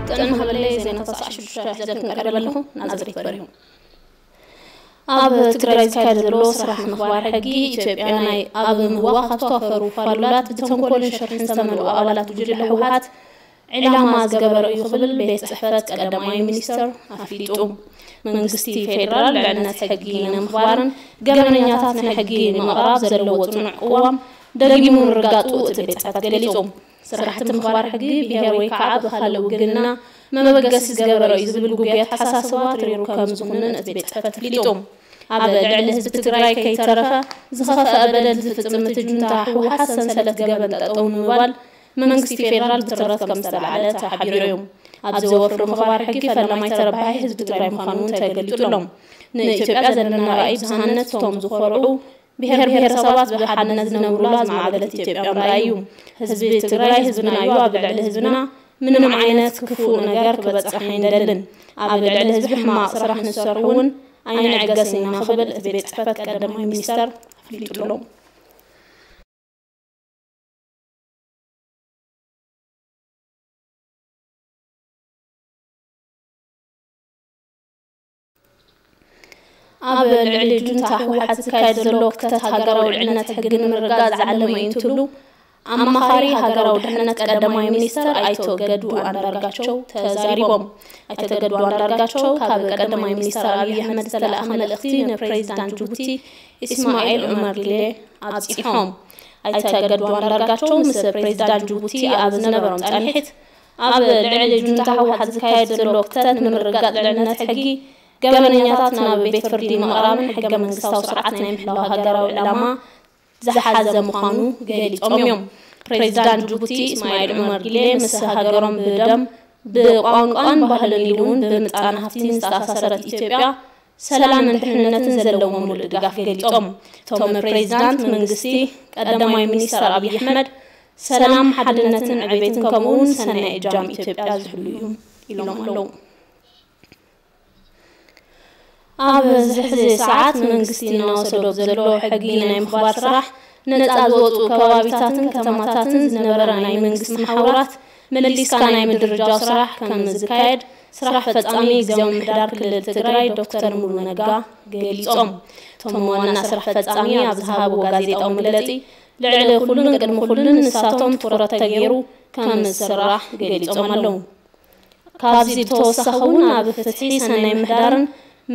ጥዕና ሃበለይ፣ ዜናታት ሰዓት ሽዱሽተ ሒዘ ክንቀርብ ኣለኹ። ናዝሬት በሪሁ። ኣብ ትግራይ ዝካየድ ዘሎ ስራሕ ምኽባር ሕጊ፣ ኢትዮጵያ ናይ ኣብ ምህዋ ካብ ዝተዋፈሩ ፋሉላት ብተንኮልን ሽርሕን ዝተመልኡ ኣባላት ጉጅለ ህወሓት ዕላማ ዝገበረ እዩ ክብል ቤት ጽሕፈት ቀዳማይ ሚኒስተር ኣፍሊጡ። መንግስቲ ፌደራል ልዕልነት ሕጊ ንምኽባርን ገበነኛታት ንሕጊ ንምቕራብ ዘለዎ ጽኑዕ ቅዋም ደጊሙ ምርጋጹ እቲ ቤት ጽሕፈት ገሊጹ። ስራሕቲ ምኽባር ሕጊ ብሄር ወይ ከዓ ብኻልእ ውግንና መበገሲ ዝገበረ እዩ ዝብል ጉጉይ ኣተሓሳስባ ትሪሩ ከም ዝኹንን እቲ ቤት ጽሕፈት ኣፍሊጡ። ኣብ ልዕሊ ህዝቢ ትግራይ ከይተረፈ ዝኸፍአ በደል ዝፍጽም እቲ ጁንታ ህወሓት ሰንሰለት ገበን ጠጠው ንምባል መንግስቲ ፌደራል ብትረት ከም ዝተላዕለ ተሓቢሩ እዩ። ኣብዚ ወፍሪ ምኽባር ሕጊ ፈላማይ ተረባሒ ህዝቢ ትግራይ ምዃኑ ተገሊጹ ኣሎ። ንኢትዮጵያ ዘለና ራእይ ብዝሃነት እቶም ዝኾርዑ ብሄር ብሄረሰባት ብሓድነት ዝነብሩላ ዝማዕበለት ኢትዮጵያ ምርኣይ እዩ። ህዝቢ ትግራይ ህዝብና እዩ፣ ኣብ ልዕሊ ህዝብና ምንም ዓይነት ክፉእ ነገር ክበፅሕ ኣይንደልን። ኣብ ልዕሊ ህዝቢ ሕማቕ ስራሕ ንሰርሑ እውን ኣይንዕገስን ኢና ክብል እቲ ቤት ፅሕፈት ቀዳማይ ሚኒስተር ኣፍሊጡ ኣሎ። ኣብ ልዕሊ ጁንታ ህወሓት ዝካየድ ዘሎ ክተት ሃገራዊ ልዕልነት ሕጊ ንምርጋጽ ዝዓለመ እዩ እንትብሉ ኣማኻሪ ሃገራዊ ድሕነት ቀዳማይ ሚኒስተር ኣይተ ገዱ ኣንዳርጋቸው ተዛሪቦም። ኣይተ ገዱ ኣንዳርጋቸው ካብ ቀዳማይ ሚኒስተር ኣብይ ኣሕመድ ዝተለኣኸ መልእኽቲ ንፕሬዚዳንት ጅቡቲ ኢስማኤል ዑመር ጊሌ ኣብፂሖም። ኣይተ ገዱ ኣንዳርጋቸው ምስ ፕሬዚዳንት ጅቡቲ ኣብ ዝነበሮም ፃንሒት፣ ኣብ ልዕሊ ጁንታ ህወሓት ዝካየድ ዘሎ ክተት ንምርግጋፅ ልዕልነት ሕጊ ገበነኛታት ናብ ቤት ፍርዲ ምቕራብን ሕገ መንግስታዊ ስርዓት ናይ ምሕላው ሃገራዊ ዕላማ ዝሓዘ ምዃኑ ገሊጾም እዮም። ፕሬዚዳንት ጅቡቲ እስማኤል ዑመር ጊሌ ምስ ሃገሮም ብደም ብቋንቋን ባህልን ኢሉ እውን ብምጣነ ሃፍቲ ዝተኣሳሰረት ኢትዮጵያ ሰላምን ድሕንነትን ዘለዎም ሙሉእ ድጋፍ ገሊጾም። እቶም ፕሬዚዳንት መንግስቲ ቀዳማይ ሚኒስተር ኣብይ ኣሕመድ ሰላም፣ ሓድነትን ዕቤትን ከምኡ እውን ሰናይ እጃም ኢትዮጵያ ዝሕሉ እዩ ኢሎም ኣለዉ። ኣብዚ ሕዚ ሰዓት መንግስቲ እናወሰዶ ዘሎ ሕጊ ናይ ምኽባር ስራሕ ነፃ ዝወፁ ከባቢታትን ከተማታትን ዝነበረ ናይ መንግስቲ መሓውራት መሊስካ ናይ ምድርጃው ስራሕ ከም ዝካየድ ስራሕ ፈፃሚ ግዝያዊ ምምሕዳር ክልል ትግራይ ዶክተር ሙሉ ነጋ ገሊፆም። እቶም ዋና ስራሕ ፈፃሚ ኣብ ዝሃብዎ ጋዜጣዊ መግለፂ ልዕሊ ኩሉን ቅድሚ ኩሉን ንሳቶም ትኹረት ተገይሩ ከም ዝስራሕ ገሊፆም ኣለዉ። ካብዚ ብተወሳኺ እውን ኣብ ፍትሒ ሰናይ ምሕዳርን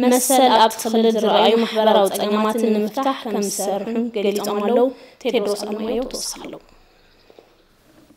መሰል ኣብቲ ክልል ዝረኣዩ ማሕበራዊ ፀገማትን ንምፍታሕ ከም ዝሰርሑ ገሊፆም ኣለዉ። ቴድሮስ ኣለማየሁ ተወሳኺ ኣለዎ።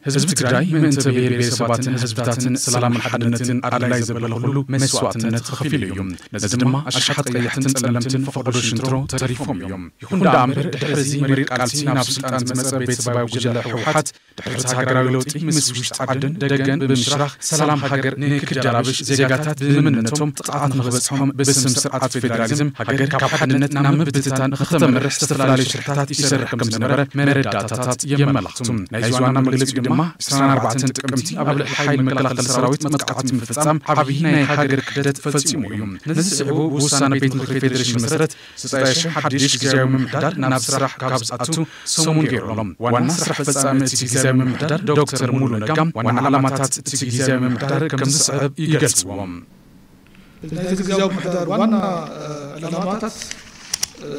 ህዝቢ ትግራይ ምእንተ ብሄር ብሄረሰባትን ህዝብታትን ሰላምን ሓድነትን ኣድላይ ዘበለ ኩሉ መስዋእትነት ከፊሉ እዩ። ነዚ ድማ ኣሽሓት ቀያሕትን ጸለምትን ፈቐዶ ሽንትሮ ተሪፎም እዮም። ይኹን ደኣ እምበር ድሕሪ እዚ መሪር ቃልሲ ናብ ስልጣን ዝመጸ ቤተሰባዊ ጉጅለ ህወሓት ድሕሪ እቲ ሃገራዊ ለውጢ ምስ ውሽጢ ዓድን ደገን ብምሽራኽ ሰላም ሃገር ንክዳረብሽ ዜጋታት ብመንነቶም ጥቕዓት ንኽበጽሖም ብስም ስርዓት ፌደራሊዝም ሃገር ካብ ሓድነት ናብ ምብትታን ንኽተምርሕ ዝተፈላለዩ ሽርሕታት ይሰርሕ ከም ዝነበረ መረዳእታታት የመላኽቱ። ናይዚ ዋና መግለጺኡ ድማ ዕስራን ኣርባዕተን ጥቅምቲ ኣብ ልዕሊ ሓይሊ መከላኸሊ ሰራዊት መጥቃዕቲ ምፍጻም ዓብዪ ናይ ሃገር ክሕደት ፈጺሙ እዩ። ነዚ ስዒቡ ብውሳነ ቤት ምኽሪ ፌዴሬሽን መሰረት ዘጠና ሺሕ ሓድሽ ግዝያዊ ምምሕዳር ናብ ስራሕ ካብ ዝኣቱ ሰሙን ገይሩ ኣሎ። ዋና ስራሕ ፈጻሚ እቲ ግዝያዊ ምምሕዳር ዶክተር ሙሉ ነጋ ዋና ዕላማታት እቲ ግዝያዊ ምምሕዳር ከም ዝስዕብ ይገልጽዎ። ናይቲ ግዝያዊ ምምሕዳር ዋና፣ እ፣ ዕላማታት፣ እ፣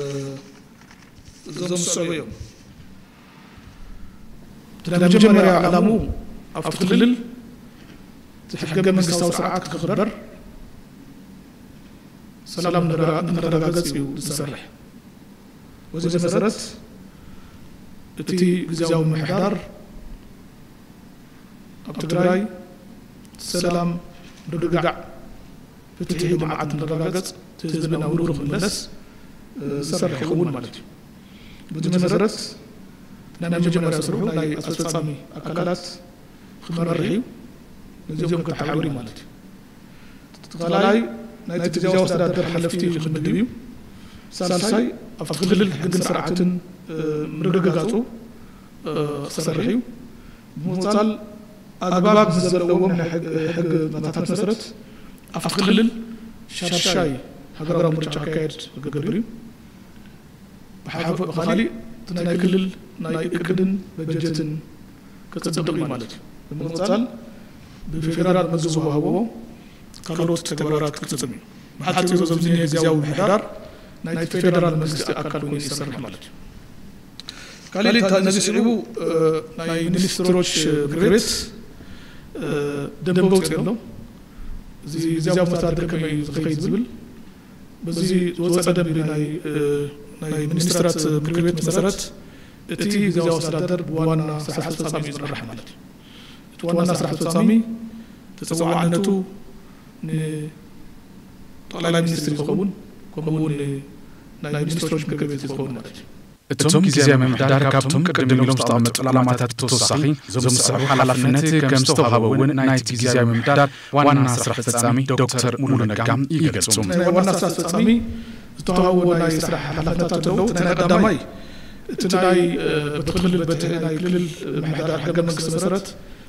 እዞም ዝስዕቡ እዮም። እቲ ናይ መጀመርያ ዕላምኡ ኣብቲ ክልል እቲ ሕገ መንግስታዊ ስርዓት ክኽበር ሰላም ንረ-፣ ንኽረጋገጽ እዩ ዝሰርሕ። በዚ መሰረት እቲ ግዝያዊ ምምሕዳር ኣብ ትግራይ ሰላም፣ ምርግጋዕ፣ ፍትሒ፣ ልምዓት ንረጋገጽ፣ እቲ ህዝቢ ናብ ንቡሩ ክምለስ፣ እ፣ ዝሰርሕ ይኸውን ማለት እዩ። በዚ መሰረት ናይ መጀመርያ ስርሑ ናይ ኣስፈጻሚ ኣካላት ክመርሕ እዩ። ነዚኦም ከተሓባብር እዩ ማለት እዩ። እቲ ካልኣይ ናይቲ ግዝያዊ ኣስተዳደር ሓለፍቲ ክምድብ እዩ። ሳልሳይ ኣብቲ ክልል ሕግን ስርዓትን፣ እ፣ ምርግጋጹ፣ እ፣ ክሰርሕ እዩ። ብምቕጻል ኣግባብ ዘለዎም ናይ ሕግ፣ ሕግታታት መሰረት ኣብቲ ክልል ሻድሻይ ሃገራዊ ምርጫ ክካየድ ክገብር እዩ። ብሓ-፣ ብኻሊእ እቲ ናይ ክልል ናይ እቅድን በጀትን ከጽድቕ እዩ ማለት እዩ። ብምቕጻል ብፌደራል መዚ ዝወሃቦ ካልኦት ተግባራት ክፍጽም እዩ። ብሓጺሩ ዘብዚ ግዝያዊ ምምሕዳር ናይ ፌደራል መንግስቲ ኣካል ኮይኑ ይሰርሕ ማለት እዩ። ካልእ ነዚ ስዒቡ ናይ ሚኒስትሮች ምክር ቤት ደንበ ውፅእ ኣሎ። እዚ ግዝያዊ ምምሕዳር ከመይ ዝኸይድ ዝብል በዚ ዝወፀ ደንቢ ናይ ሚኒስትራት ምክር ቤት መሰረት እቲ ግዝያዊ ኣስተዳደር ብዋና ስራሕ ኣስፈፃሚ እዩ ዝመራሕ ማለት እዩ። እቲ ዋና ስራሕ ኣስፈፃሚ ተፀዋዕነቱ ንጠቕላይ ሚኒስትር ዝኸውን ከምኡ እውን ናይ ሚኒስትሮች ምክር ቤት ዝኸውን ማለት እዩ። እቶም ግዝያዊ ምምሕዳር ካብቶም ቅድም ኢሎም ዝተቐመጡ ዕላማታት ብተወሳኺ እዞም ዝስዕቡ ሓላፍነት ከም ዝተዋሃበ እውን ናይቲ ግዝያዊ ምምሕዳር ዋና ስራሕ ፈጻሚ ዶክተር ሙሉ ነጋ ይገልጹ። ናይ ዋና ስራሕ ፈጻሚ ዝተዋሃቦ ናይ ስራሕ ሓላፍነታት ኣለዉ። እቲ ናይ ቀዳማይ እቲ ናይ በቲ ክልል በቲ ናይ ክልል ምምሕዳር ሕገ መንግስቲ መሰረት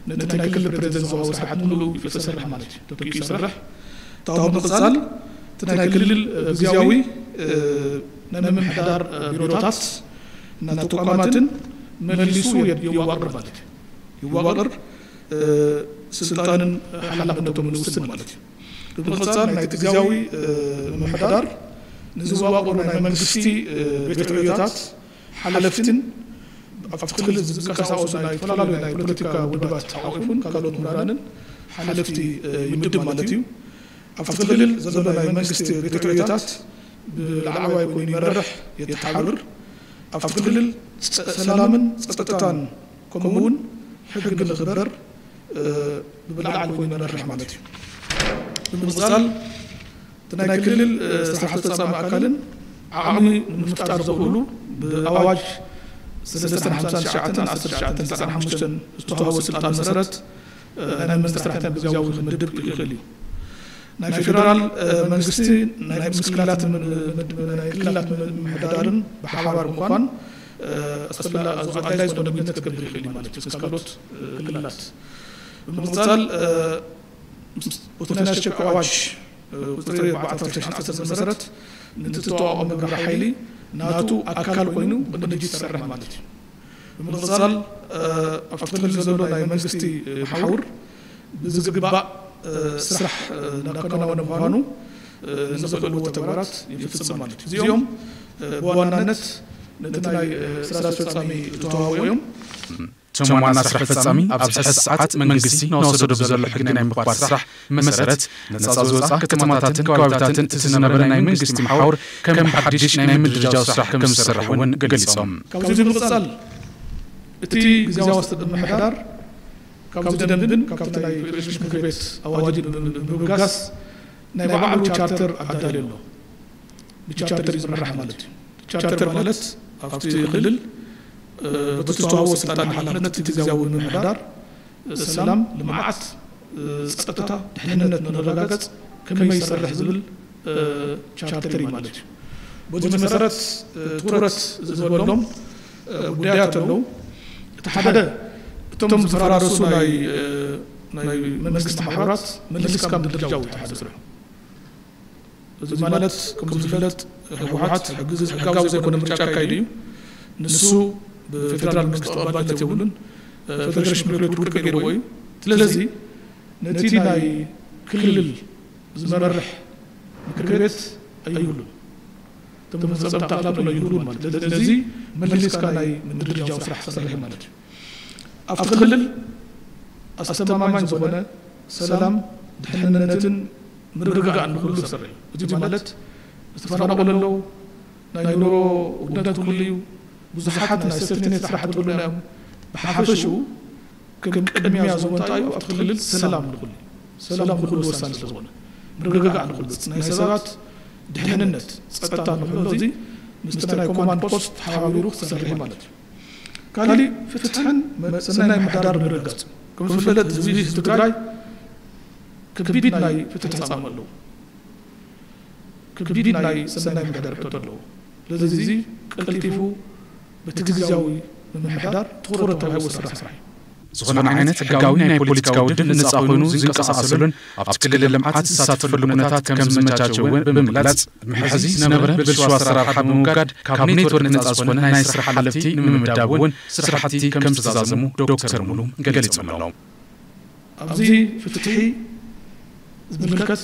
ነቲ ናይ ክልል ፕሬዚደንት ዝዋሃቦ ስራሕ ሙሉ ይሰርሕ ማለት እዩ። ተኪኡ ይሰርሕ። እታ ብምቕጻል እቲ ናይ ክልል ግዝያዊ ናይ ምምሕዳር ቢሮታት እና ተቋማትን መሊሱ የዋቅር ማለት እዩ። ይዋቅር፣ ስልጣንን ሓላፍነቶም ንውስን ማለት እዩ። ብምቕጻል ናይቲ ግዝያዊ ምምሕዳር ንዝዋቅሩ ናይ መንግስቲ ቤት ዕዮታት ሓለፍትን ኣብቲ ክልል ዝንቀሳቀሱ ናይ ዝተፈላለዩ ናይ ፖለቲካ ውድባት ሓቂፉን ካልኦት ምሁራንን ሓለፍቲ ይምድብ ማለት እዩ። ኣብቲ ክልል ዘሎ ናይ መንግስቲ ቤት ዕዮታት ብላዕለዋይ ኮይኑ ይመርሕ፣ የተሓብር። ኣብቲ ክልል ሰላምን ጸጥታን ከምኡ እውን ሕጊ ንኽበር ብላዕሊ ኮይኑ ይመርሕ ማለት እዩ። ብምቕጻል እቲ ናይ ክልል ስራሕ ፈጻሚ ኣካልን ዓቕሚ ንምፍጣር ዘኽእሉ ብኣዋጅ ሰለስተ ሓምሳ ትሽዓተ ዓሰርተ ትሽዓተ ዘጠና ሓሙሽተ ዝተዋህቦ ስልጣን መሰረት ናይ መንግስቲ ስራሕቲ ብግዝያዊ ክምድብ ይኽእል እዩ። ናይ ፌደራል መንግስቲ ናይ ምስ ክልላት ናይ ክልላት ምምሕዳርን ብሓባር ምኳን ኣድላይ ዝኾነ ግንኙነት ክገብር ይኽእል እዩ ማለት እዩ ምስ ካልኦት ክልላት። ብምቕጻል በቲ ናይ ኣስቸኳይ ኣዋጅ ቁፅሪ ኣርባዕተ ዓሰርተ ዓሰርተ መሰረት ነቲ ተዋቕኦ መብርሂ ሓይሊ ናቱ ኣካል ኮይኑ ብቅንጅት ይሰርሕ ማለት እዩ። ብምቕፃል ኣብቲ ክልል ዘሎ ናይ መንግስቲ መሓውር ብዝግባእ ስራሕ እናከናወነ ምዃኑ ንዘኽእልዎ ተግባራት ይፍፅም ማለት እዩ። እዚኦም ብዋናነት ነቲ ናይ ስራ ኣስፈፃሚ ዝተዋህቦ እዮም። እቶም ዋና ስራሕ ፈፃሚ ኣብዚ ሕዚ ሰዓት መንግስቲ እናወሰዶ ብዘሎ ሕጊ ናይ ምኽባር ስራሕ መሰረት ነፃ ዝወፃ ከተማታትን ከባቢታትን እቲ ዝነበረ ናይ መንግስቲ መሓውር ከም ብሓድሽ ናይ ምድርጃው ስራሕ ከም ዝሰርሕ እውን ገሊፆም። ካብዚ ብምቕፃል እቲ ግዝያዊ ኣስተዳደር ምምሕዳር ካብዚ ደንብን ካብቲ ናይ ፌዴሬሽን ምክር ቤት ኣዋጅን ብምብጋስ ናይ ባዕሉ ቻርተር ኣዳልዩ ኣሎ። ብቻርተር እዩ ዝምራሕ ማለት እዩ። ቻርተር ማለት ኣብቲ ክልል በቲ ዝተዋህቦ ስልጣን ሓላፍነት እቲ ግዝያዊ ምምሕዳር ሰላም፣ ልምዓት፣ ፀጥታ፣ ድሕንነት ንረጋገፅ ከመይ ይሰርሕ ዝብል ቻርተር እዩ ማለት እዩ። በዚ መሰረት ትኩረት ዝበሎም ጉዳያት ኣለዉ። እቲ ሓደ እቶም ዝፈራረሱ ናይ ናይ መንግስቲ ማሕበራት መልስካ ምድርጃው እዩ እቲ ሓደ ስርሑ። እዚ ማለት ከም ዝፍለጥ ህወሓት ሕጊ- ህጋዊ ዘይኮነ ምርጫ ኣካይዱ እዩ። ንሱ ብፌደራል መንግስቲ ተቐባልነት የብሉን። ፌደሬሽን ምክር ቤት ውድቂ ገይርዎ እዩ። ስለዚ ነቲ ናይ ክልል ዝመርሕ ምክር ቤት ኣይብሉን። እቶም መፈፀምቲ ኣካላቱ ኣይብሉን ማለት እዩ። ስለዚ መሊስካ ናይ ምድርጃው ስራሕ ትሰርሕ ማለት እዩ። ኣብቲ ክልል ኣስተማማኝ ዝኾነ ሰላም፣ ድሕንነትን ምርግጋእን ንክህሉ ዝሰርሕ እዩ። እዚ ማለት ዝተፈናቐሉ ኣለዉ፣ ናይ ኑሮ ውድነት ክህሉ እዩ። ብዙሓት ናይ ሴፍቲኔት ስራሕ ክህሉ እዮም። ብሓፈሽኡ ከም ቅድሚያ ዝወንጣ እዩ ኣብቲ ክልል ሰላም ንክህሉ እዩ። ሰላም ንክህሉ ወሳኒ ስለዝኾነ ምርግጋእ ንክህሉ ናይ ሰባት ድሕንነት ጸጥታ ንክህሉ እዚ ምስቲ ናይ ኮማንድ ፖስት ተሓባቢሩ ክሰርሕ ማለት እዩ። ካሊእ ፍትሕን መ- ሰናይ ምሕዳር ምርግጋጽ። ከም ዝፍለጥ ህዝቢ ህዝቢ ትግራይ ከቢድ ናይ ፍትሒ ጻማ ኣለዎ። ከቢድ ናይ ሰናይ ምሕዳር ሕቶ ኣለዎ። ስለዚ እዚ ቀልጢፉ በቲ ግዝያዊ ምምሕዳር ትኹረት ተዋሂቡ ዝስራሕ ስራሕ እዩ። ዝኾነ ዓይነት ሕጋዊ ናይ ፖለቲካ ውድብ ነጻ ኮይኑ ዝንቀሳቐሰሉን ኣብቲ ክልል ልምዓት ዝሳተፈሉ ኩነታት ከም ዝመቻቸወ እውን ብምግላጽ ድሕሪ ሕዚ ዝነበረ ብልሽው ኣሰራርሓ ብምውጋድ ካብ ኔትወርክ ነጻ ዝኾነ ናይ ስራሕ ሓለፍቲ ንምምዳብ እውን ስራሕቲ ከም ዝተዛዘሙ ዶክተር ሙሉ ገሊጾም ኣለዉ። ኣብዚ ፍትሒ ዝምልከት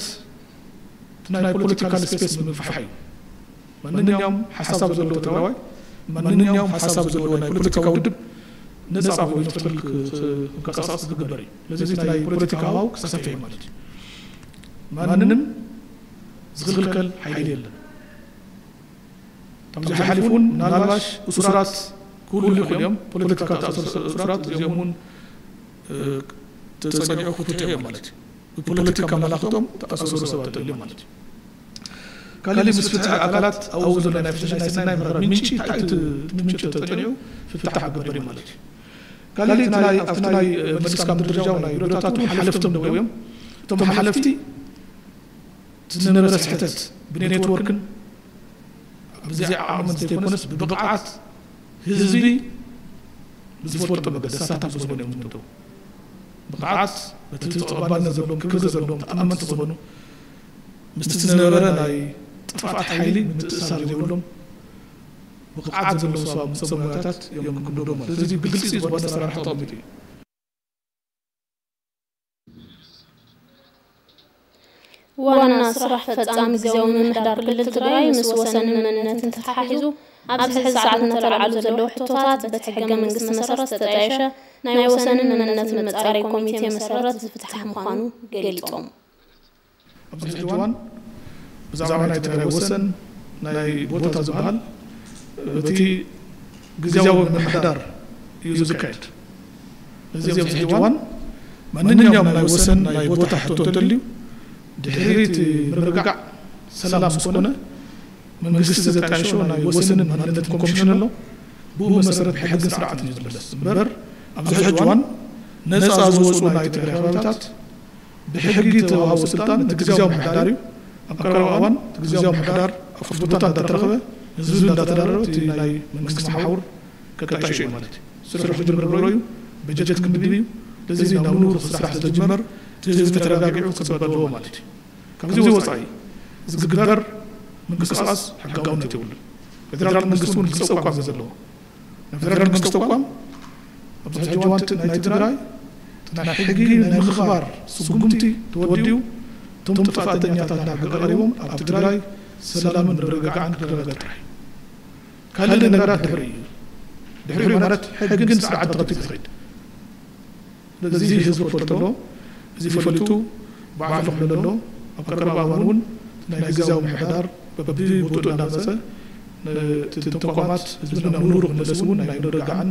ናይ ፖለቲካል ስፔስ ምግፋሕ እዩ። ማንኛውም ሓሳብ ዘለዎ ትግራዋይ፣ ማንኛውም ሓሳብ ዘለዎ ናይ ፖለቲካ ውድብ ነፃ ኮይኑ ፍትሕል ክንቀሳቀስ ዝግበር እዩ። ስለዚ ናይ ፖለቲካ ሃዋው ክሰፍሕ እዩ ማለት እዩ። ማንም ዝኽልከል ሓይሊ የለን። ካብዚ ሓሊፉ እውን ምናልባሽ እሱራት ክህሉ ይኽእሉ እዮም። ፖለቲካ ተኣሰሩ እሱራት እዚኦም እውን ተፀኒዑ ክፍትሑ እዮም ማለት እዩ። ብፖለቲካ መላኽቶም ተኣሰሩ ሰባት ተልዮም ማለት እዩ። ካልእ ምስ ፍትሒ ኣካላት ኣብኡ ዘሎ ናይ ፍትሒ ናይ ሰናይ ምሕረት ምንጪ እንታይ እቲ ምንጪ ተጠኒዑ ፍታሕ ክግበር እዩ ማለት እዩ። ካልእ እቲ ናይ ኣብቲ ናይ መንግስቲ ካብ ምድርጃው ናይ ቢሮታት እውን ሓለፍቶም ደው እዮም። እቶም ሓለፍቲ ዝነበረ ስሕተት ብኔትወርክን ብዘይ ዓቕምን ዘይኮነስ ብብቕዓት ህዝቢ ብዝፈልጦ መገዲ ሳታፍ ዝኾነ እዮም ዝምደቡ። ብቕዓት በቲ ተቐባልነት ዘለዎም ክብሪ ዘለዎም ተኣመንቲ ዝኾኑ ምስቲ ዝነበረ ናይ ጥፍኣት ሓይሊ ምትእሳር ዘይብሎም ብቕዓት ዘለዎም ሰባት ሰብ ሞያታት እዮም ክምደቡ ማለት እዚ ብግልፂ ዝኾነ ኣሰራርሓ ተቐሚጡ እዩ። ዋና ስራሕ ፈፃሚ ግዝያዊ ምምሕዳር ክልል ትግራይ ምስ ወሰንን መንነትን ተተሓሒዙ ኣብዚ ሕዚ ሰዓት እናተላዕሉ ዘለዉ ሕቶታት በቲ ሕገ መንግስቲ መሰረት ዝተጣየሸ ናይ ወሰንን መንነትን መፃረይ ኮሚቴ መሰረት ዝፍታሕ ምዃኑ ገሊፆም። ኣብዚ ሕጂ እዋን ብዛዕባ ናይ ትግራይ ወሰን ናይ ቦታ ዝበሃል በቲ ግዝያዊ ምምሕዳር እዩ ዝካየድ። እዚ ኣብዚ ሕጂ እዋን ማንኛውም ናይ ወሰን ናይ ቦታ ሕቶ እንተልዩ ድሕሪ እቲ ምርግጋዕ ሰላም ምስ ኮነ መንግስቲ ዘጣየሾ ናይ ወሰንን ማንነትን ኮሚሽን ኣሎ። ብኡ መሰረት ብሕግን ስርዓትን እዩ ዝምለስ እምበር ኣብዚ ሕጂ እዋን ነፃ ዝወፁ ናይ ትግራይ ከባቢታት ብሕጊ ተዋሃቡ ስልጣን እቲ ግዝያዊ ምምሕዳር እዩ። ኣብ ቀረባ እዋን እቲ ግዝያዊ ምምሕዳር ኣብ ክፉት ቦታ እንዳተረኸበ ህዝቢ እንዳተዳረበ እቲ ናይ መንግስቲ መሓውር ከጣይሾ እዩ ማለት እዩ። ስርሑ ክጅምር ብሮ እዩ። በጀት ክምድብ እዩ። ስለዚ ናብ ንቡር ስራሕ ስለዝጅመር እቲ ህዝቢ ተረጋጊዑ ክፅበ ኣለዎ ማለት እዩ። ካብዚ ወፃኢ ዝግበር ምንቅስቃስ ሕጋውነት የብሉን። ፌደራል መንግስቲ እውን ክፀቋም እዩ ዘለዎ። ናይ ፌደራል መንግስቲ ተቋም ኣብዚ ሕጂ እዋን ናይ ትግራይ ናይ ሕጊ ናይ ምኽባር ስጉምቲ ተወዲኡ እቶም ጥፋተኛታት ናብ ሕጊ ቀሪቦም ኣብ ትግራይ ሰላምን ምርግጋዕን ክረጋገጥ ጥራሕ እዩ። ካልእ ነገራት ድሕሪ እዩ። ድሕሪ ማለት ሕግን ስርዓት ተኸቲሉ ዝኸይድ ስለዚ ህዝቢ ክፈልጦ እዚ ፈሊጡ ባዕሉ ክሕሎ ኣሎ። ኣብ ቀረባ እዋን እውን ናይ ግዝያዊ ምምሕዳር በብቦትኡ እናመፀ እቶም ተቋማት ህዝብና ናብ ንቡሩ ክምለስ እውን ናይ ምርግጋዕን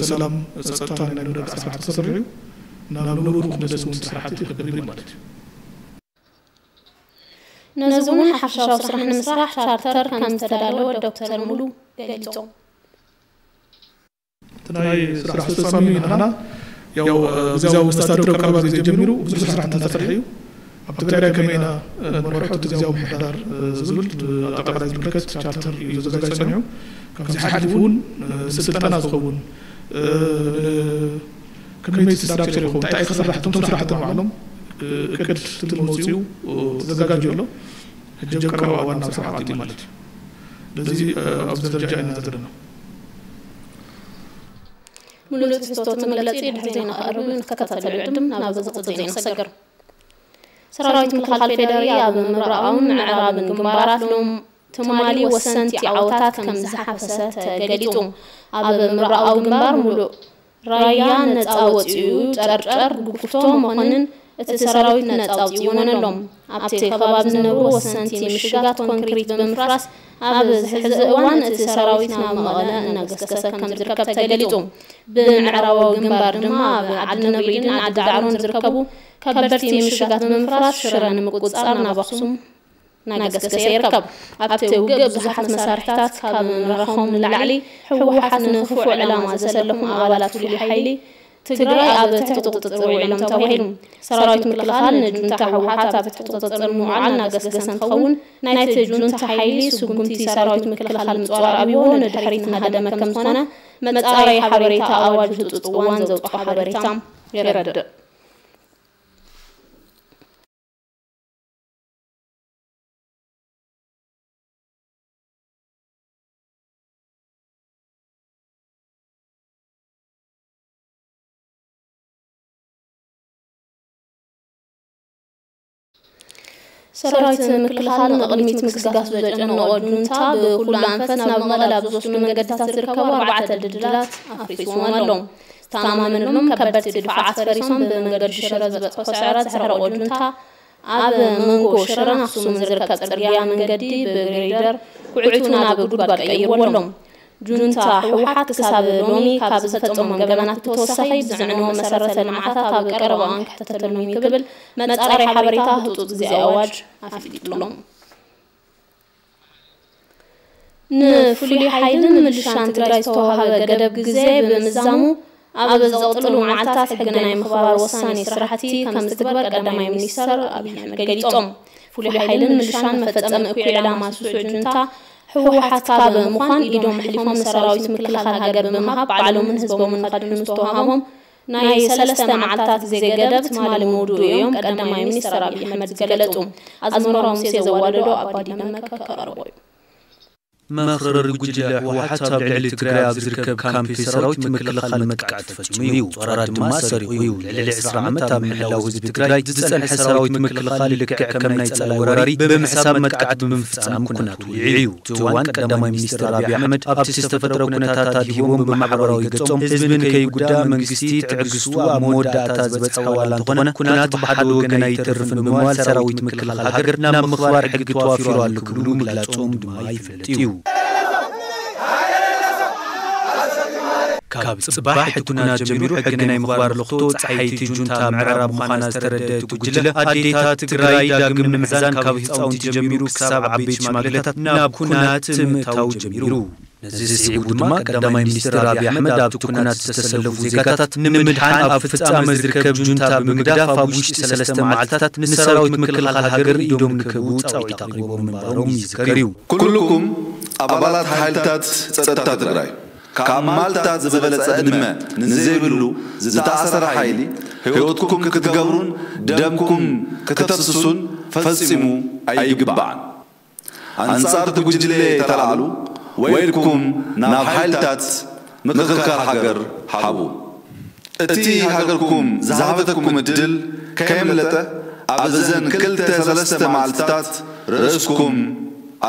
ሰላም ፀጥታ ናይ ምርግጋዕ ስራሕ ተሰርሑ እዩ። ናብ ንቡሩ ክምለስ እውን ስራሕቲ ክገብር እዩ ማለት እዩ። ነዚ እውን ሓፈሻዊ ስራሕ ንምስራሕ ቻርተር ከም ዝተዳለወ ዶክተር ሙሉ ገሊፆም። እቲ ናይ ስራሕ ኣስፈፃሚ ንዓና ያው ግዝያዊ መስተዳድር ቀረባ ግዜ ጀሚሩ ብዙሕ ስራሕ እናተሰርሐ እዩ። ኣብ ትግራይ ከመይ ኢና ንመርሖ እቲ ግዝያዊ ምምሕዳር ዝብል ኣጠቃላይ ዝምልከት ቻርተር እዩ ዘዘጋጅ ፀኒሑ። ካብዚ ሓሊፉ እውን ንስልጠና ዝኸውን ከመይ እቲ ስትራክቸር ይኸውን እንታይ ክስራሕ እቶም ስራሕቲ ባዕሎም እቅድ ትልሚ ወፂኡ ተዘጋጅዩ ኣሎ። ሕጂ ቀረባ እዋን ናብ ስራሕ ኣትዩ ማለት እዩ። ስለዚ ኣብዚ ደረጃ ኢና ዘለና። ሙሉእ ትሕዝቶ እቲ መግለፂ ድሕሪ ዜና ክቐርብ እዩ። ንክትከታተሉ ይዕድም። ናብ ዝቕፅል ዜና ክሰግር። ሰራዊት ምክልኻል ፌዴሪ ኣብ ምብራቓውን ምዕራብን ግንባራት ሎም ትማሊ ወሰንቲ ዓወታት ከም ዝሓፈሰ ተገሊፁ። ኣብ ምብራቓዊ ግንባር ሙሉእ ራያ ነፃ ወፂኡ ጨርጨር፣ ጉፍቶ፣ መኾንን እቲ ሰራዊት ነፃ ኣውፂእዎን ኣሎ። ኣብቲ ከባቢ ዝነብሩ ወሰንቲ ምሽጋት ኮንክሪት ብምፍራስ ኣብዚ ሕዚ እዋን እቲ ሰራዊት ናብ መቐለ እናገስገሰ ከም ዝርከብ ተገሊፁ። ብምዕራባዊ ግንባር ድማ ኣብ ዓዲ ነብሪድን ዓዲ ዳዕሮን ዝርከቡ ከበድቲ ምሽጋት ብምፍራስ ሽረ ንምቁፅፃር ናብ ኣኽሱም እናገስገሰ ይርከብ። ኣብቲ ውግእ ብዙሓት መሳርሕታት ካብ ምምራኾም ንላዕሊ ህወሓት ንክፉእ ዕላማ ዘሰለፉ ኣባላት ፍሉይ ሓይሊ ትግራይ ኣብ ትሕቲ ቁፅፅር ውዒሎም ተባሂሉ። ሰራዊት ምክልኻል ንጁንታ ህወሓት ኣብ ትሕቲ ቁፅፅር ንምውዓል እናገስገሰ እንትኸውን ናይቲ ጁንታ ሓይሊ ስጉምቲ ሰራዊት ምክልኻል ምፅዋር ኣብይዎ ንድሕሪት እናሃደመ ከምዝኾነ መፃረይ ሓበሬታ ኣዋጅ ህፁፅ እዋን ዘውፅኦ ሓበሬታ የረድእ። ሰራዊት ምክልኻል ንቕድሚት ምግስጋስ ዘጨነቖ ጁንታ ብኩሉ ኣንፈት ናብ መቐለ ኣብ ዝወስዱ መንገድታት ዝርከቡ ኣርባዕተ ድልድላት ኣፍሪስዎም ኣሎ። ዝተኣማመነሎም ከበድቲ ድፋዓት ፈሪሶም ብመንገዲ ሽረ ዝበፅሖ ስዕረት ዘሕረቖ ጁንታ ኣብ መንጎ ሽረን ኣክሱምን ዝርከብ ፅርግያ መንገዲ ብግሬደር ኩዕቱ ናብ ጉድጓድ ቀይርዎ ኣሎ። ጁንታ ህወሓት ክሳብ ሎሚ ካብ ዝፈፀሞም ገበናት ብተወሳኺ ብዝዕነዎ መሰረተ ልምዓታት ኣብ ቀረባ እዋን ክሕተተሎም እዩ ክብል መፃረይ ሓበሬታ ህፁፅ ግዜ ኣዋጅ ኣፍሊጡሎም። ንፍሉይ ሓይልን ምልሻን ትግራይ ዝተዋሃበ ገደብ ግዜ ብምዛሙ ኣብ ዝቕፅሉ መዓልታት ሕጊ ናይ ምኽባር ወሳኒ ስራሕቲ ከም ዝትግበር ቀዳማይ ሚኒስተር ኣብይ ኣሕመድ ገሊፆም። ፍሉይ ሓይልን ምልሻን መፈፀሚ እኩይ ዕላማ ስሱዕ ጁንታ ህወሓት ካብ ምዃን ኢዶም ኣሕሊፎም ንሰራዊት ምክልኻል ሃገር ብምሃብ ባዕሎምን ህዝቦምን ንኸድሕኑ ዝተዋሃቦም ናይ ሰለስተ መዓልታት ግዜ ገደብ ትማሊ ምውድኡ እዮም ቀዳማይ ሚኒስተር ኣብይ ኣሕመድ ዝገለፁ። ኣዝመራው ሙሴ ዘዋደዶ ኣባዲ ደመቀ ከቕርቦ እዩ። መኽረሪ ጉጅለ ህወሓት ኣብ ልዕሊ ትግራይ ኣብ ዝርከብ ካምፕ ሰራዊት ምክልኻል መጥቃዕቲ ፈፂሙ እዩ። ጾራት ድማ ሰሪቑ እዩ። ልዕሊ ዕስራ ዓመት ኣብ ምሕላው ህዝቢ ትግራይ ዝፀንሐ ሰራዊት ምክልኻል ልክዕ ከም ናይ ፀላኢ ወራሪ ብምሕሳብ መጥቃዕቲ ብምፍፃም ኩናት ውዒዑ እዩ። እቲ እዋን ቀዳማይ ሚኒስትር ኣብይ ኣሕመድ ኣብቲ ዝተፈጠረ ኩነታት ኣድሂቦም ብማሕበራዊ ገጾም ህዝቢ ንከይጉዳእ መንግስቲ ትዕግስቱ ኣብ መወዳእታ ዝበፅሐ ዋላ እንተኾነ ኩናት ብሓደ ወገን ኣይተርፍን ብምባል ሰራዊት ምክልኻል ሃገር ናብ ምኽባር ሕጊ ተዋፊሩ ኣሎ ክብሉ ምግላፆም ድማ ይፍለጥ እዩ። ካብ ፅባሕ እቲ ኩናት ጀሚሩ ሕጊ ናይ ምኽባር ለኽቶ ፀሓይቲ ጁንታ ምዕራብ ምዃና ዝተረደአ እቲ ጉጅለ ኣዴታት ትግራይ ዳግም ንምሕዛን ካብ ህፃውንቲ ጀሚሩ ክሳብ ዓበይቲ ሽማግለታት ናብ ኩናት ምእታው ጀሚሩ። ነዚ ስዒቡ ድማ ቀዳማይ ሚኒስትር ኣብይ ኣሕመድ ኣብቲ ኩናት ዝተሰለፉ ዜጋታት ንምድሓን ኣብ ፍፃመ ዝርከብ ጁንታ ብምግዳፍ ኣብ ውሽጢ ሰለስተ መዓልትታት ንሰራዊት ምክልኻል ሃገር ኢዶም ንክህቡ ፃውዒት ኣቕሪቦም ምንባሮም ይዝከር እዩ። ኩልኩም ኣባላት ሓይልታት ፀጥታ ትግራይ ካብ ማልታ ዝበለፀ ዕድመ ንዘይብሉ ዝተኣሰረ ሓይሊ ህይወትኩም ክትገብሩን ደምኩም ክተፍስሱን ፈፂሙ ኣይግባዕን። ኣንጻር እቲ ጉጅለ ተላዕሉ ወይልኩም ናብ ሓይልታት ምክልኻል ሃገር ሓቡ። እቲ ሃገርኩም ዝሃበተኩም እድል ከየምለጠ ኣብ እዘን ክልተ ሰለስተ መዓልትታት ርእስኩም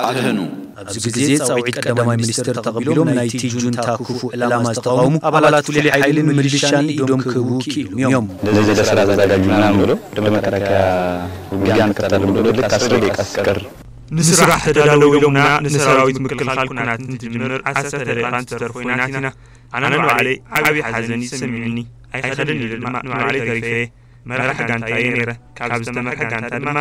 ኣድሕኑ። ኣብዚ ግዜ ፃውዒት ቀዳማይ ሚኒስትር ተቐቢሎም ናይቲ ጁንታ ክፉእ ዕላማ ዝተቓወሙ ኣባላት ፍሉይ ሓይልን ምልሻን ኢዶም ክህቡ ክኢሎም እዮም። ለዚህ ለስራ ተዘጋጁ ምናምን ብሎ ወደ መከላከያ ውጊያ እንከፍታለን ብሎ ልክ አስር ደቂቃ ሲቀር ንስራሕ ተዳለው ኢሎምና ንሰራዊት ምክልኻል ኩናት እንትጅምር ዓሰርተ ደቂቓ እንትተርፎ ኢና ኣቲና። ኣነ ንባዕለይ ዓብዪ ሓዘን እዩ ተሰሚዑኒ። ኣይኸደን ኢለ ድማ ንባዕለይ ተሪፈ እየ። መራሒ ጋንታ እየ ነይረ። ካብ ዝተመርሐ ጋንታ ድማ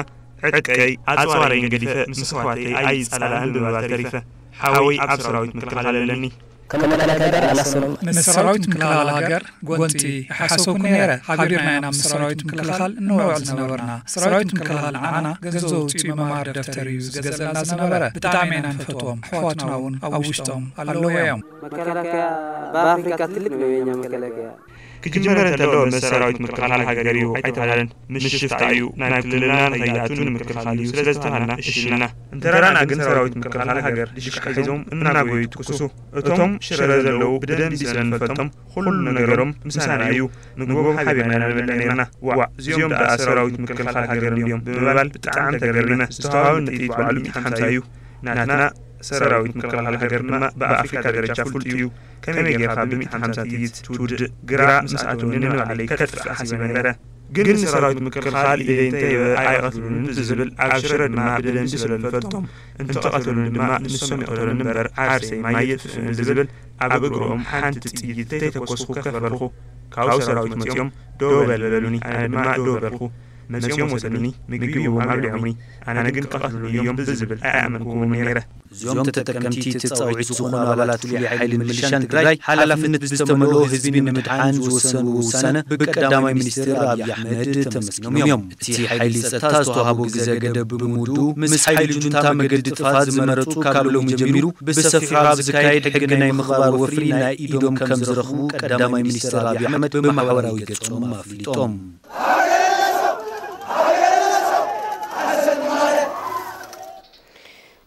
ዕጥቀይ ኣፅዋረይን ገዲፈ ምስ ኣሕዋተይ ኣይፃላእን ብምባል ተሪፈ። ሓወይ ኣብ ሰራዊት ምክልኻል ኣለኒ። ከመከላከያ ጋር አላሰብኩም። ንሰራዊት ምክልኻል ሃገር ጎንፂ ይሓሰብኩ ነይረ። ሓቢርና ኢና ምስ ሰራዊት ምክልኻል እንውዕል ዝነበርና። ሰራዊት ምክልኻል ንዓና ገንዘብ ኣውፂኡ መምሃሪ ደፍተር እዩ ዝገዝአልና ዝነበረ። ብጣዕሚ ኢና ንፈትዎም። ኣሕዋትና እውን ኣብ ውሽጦም ኣለዉ እዮም። መከላከያ በአፍሪካ ትልቅ ነው የኛ መከላከያ። ክጅመር እንተሎ ምስ ሰራዊት ምክልኻል ሃገር እዩ ኣይተባህለን። ምስ ሽፍታ እዩ ናብ ክልልና ንኸይኣቱ ንምክልኻል እዩ ስለ ዝተባሃልና እሺ ኢልና። እንተ ረኣና ግን ሰራዊት ምክልኻል ሃገር ዲሽቃ ሒዞም እናጎዩ ይትኩሱ። እቶም ሽረ ዘለዉ ብደንቢ ስለ ንፈልጦም ኩሉ ነገሮም ምሳና እዩ። ምግቦም ሓቢርና ኢና ንበልዕ ነይርና። ዋእ እዚኦም ደኣ ሰራዊት ምክልኻል ሃገር እንድዮም ብምባል ብጣዕሚ ተገሪመ። ዝተዋሃበኒ ጥይት ባዕሉ ሚእቲ ሓምሳ እዩ። ናትና ሰራዊት ምክልኻል ሃገር ድማ ብኣፍሪካ ደረጃ ፍሉጥ እዩ። ከመይ ጌርካ ብሚእቲ ሓምሳ ጥይት ትውድእ? ግራ ምስ ኣተወኒ ንባዕለይ ከጥፍእ ሓሲበ ነይረ። ግን ንሰራዊት ምክልኻል ኢደይ እንተሂበ ኣይቐትሉንን ብዝብል ኣብ ሽረ ድማ ብደንቢ ስለ ዝፈልጦም እንተቐተሉኒ ድማ ንሶም ይቕተሉኒ እምበር ዓርሰይ ማይ የጥፍእን ብዝብል ኣብ እግሮም ሓንቲ ጥይት ተይተኮስኩ ከፍ በልኹ። ካብኡ ሰራዊት መፂኦም ደው በል በሉኒ፣ ኣነ ድማ ደው በልኹ። መፂኦም ወሰዱኒ፣ ምግቢ ሂቦም ኣብሊዖምኒ። ኣነ ግን ክቐትሉኒ እዮም ብዝብል ኣይኣመንኩዎምን ነይረ። እዞም ተጠቀምቲ እቲ ፃውዒት ዝኾኑ ኣባላት ፍሉይ ሓይልን ምልሻን ትግራይ ሓላፍነት ብዝተመልኦ ህዝቢ ንምድሓን ዝወሰንዎ ውሳነ ብቀዳማይ ሚኒስትር ኣብይ ኣሕመድ ተመስጊኖም እዮም። እቲ ሓይሊ ፀጥታ ዝተዋህቦ ግዘ ገደብ ብምውድኡ ምስ ሓይሊ ጁንታ መገዲ ጥፍኣት ዝመረፁ ካብ ሎሚ ጀሚሩ ብሰፊሑ ኣብ ዝካየድ ሕጊ ናይ ምኽባር ወፍሪ ናይ ኢዶም ከም ዝረኽቡ ቀዳማይ ሚኒስትር ኣብይ ኣሕመድ ብማሕበራዊ ገፆም ኣፍሊጦም።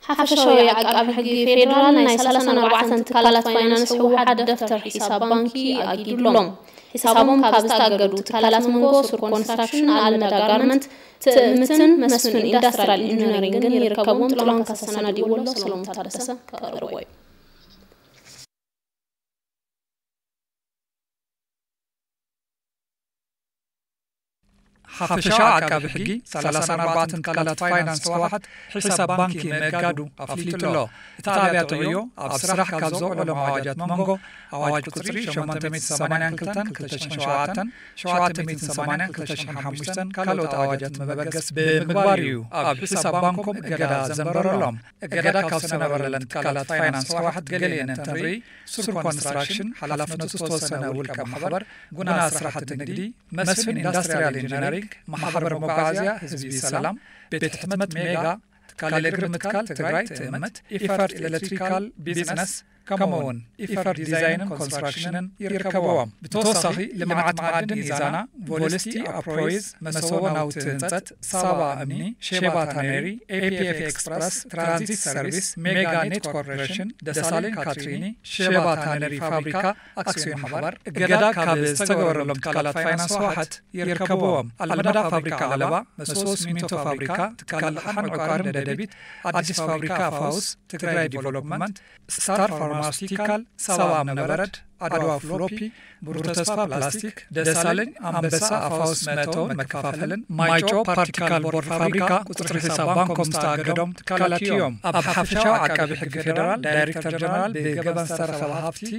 ሓፈሻዊ ዓቃቢ ሕጊ ፌዴራል ናይ ሰላሳን ኣርባዕተን ትካላት ፋይናንስ ህወሓት ደፍተር ሒሳብ ባንኪ ኣጊዱሎም። ሒሳቦም ካብ ዝተኣገዱ ትካላት መንጎ ሱር ኮንስትራክሽን፣ ኣልመዳ ጋርመንት፣ ትእምትን መስፍን ኢንዳስትሪያል ኢንጂነሪንግን ይርከብዎም። ጥላሁን ካሳ ኣሰናዲእዎ ኣሎ፣ ሰሎሞን ታደሰ ከቕርቦ እዩ። ሓፈሻዊ ዓቃቢ ሕጊ ሰላሳን ኣርባዕተን ትካላት ፋይናንስ ህወሓት ሒሳብ ባንኪ ምእጋዱ ኣፍሊጡ ኣሎ። እቲ ኣብያተ ዕዮ ኣብ ስራሕ ካብ ዘውዕሎም ኣዋጃት መንጎ ኣዋጅ ቁፅሪ ሸሞንተ ሚእቲ ሰማንያን ክልተን ክልተ ሽሕን ሸውዓተን፣ ሸውዓተ ሚእትን ሰማንያን ክልተ ሽሕን ሓሙሽተን ካልኦት ኣዋጃት መበገስ ብምግባር እዩ ኣብ ሒሳብ ባንኮም እገዳ ዘንበረሎም። እገዳ ካብ ዝተነበረለን ትካላት ፋይናንስ ህወሓት ገሊአን እንትንርኢ፣ ሱር ኮንስትራክሽን፣ ሓላፍነቱ ዝተወሰነ ውልቀ ማሕበር፣ ጉና ስራሕቲ ንግዲ፣ መስፍን ኢንዳስትሪያል ኢንጂነሪንግ፣ ማሕበር መጓዓዝያ ህዝቢ ሰላም፣ ቤት ሕትመት ሜጋ፣ ትካል እግሪ ምትካል ትግራይ ትእምት፣ ኢፈርት ኤሌክትሪካል ቢዝነስ፣ ከምኡ እውን ኢፈርት ዲዛይንን ኮንስትራክሽንን ይርከብዎም። ብተወሳኺ ልምዓት መዓድን ኢዛና፣ ቮልስቲ ኣፕሮይዝ፣ መሰቦ ናውቲ ህንፀት፣ ሳባ እምኒ፣ ሼባ ታነሪ፣ ኤፒኤፍ ኤክስፕረስ፣ ትራንዚት ሰርቪስ፣ ሜጋ ኔት ኮርፖሬሽን፣ ደሳለኝ ካትሪኒ፣ ሼባ ታነሪ ፋብሪካ ኣክሲዮን ማሕበር እገዳ ካብ ዝተገበረሎም ትካላት ፋይናንስ ህወሓት ይርከብዎም። ኣልመዳ ፋብሪካ ዓለባ፣ መሰቦ ሲሚንቶ ፋብሪካ፣ ትካል ኣቕሓን ዕቋርን ደደቢት፣ ኣዲስ ፋብሪካ ፋውስ፣ ትግራይ ዲቨሎፕመንት፣ ስታር ፋርማስቲካል፣ ሳባ እምነበረድ፣ ኣድዋ ፍሎፒ፣ ብሩህ ተስፋ ፕላስቲክ፣ ደሳለኝ ኣንበሳ ኣፋውስ መእተውን መከፋፈልን፣ ማይጮ ፓርቲካል ቦርድ ፋብሪካ ቁፅሪ ሒሳብ ባንኮም ዝተኣገዶም ትካላት እዮም። ኣብ ሓፈሻዊ ዓቃቢ ሕጊ ፌዴራል ዳይሬክተር ጀነራል ብገበን ዝተረኸበ ሃፍቲ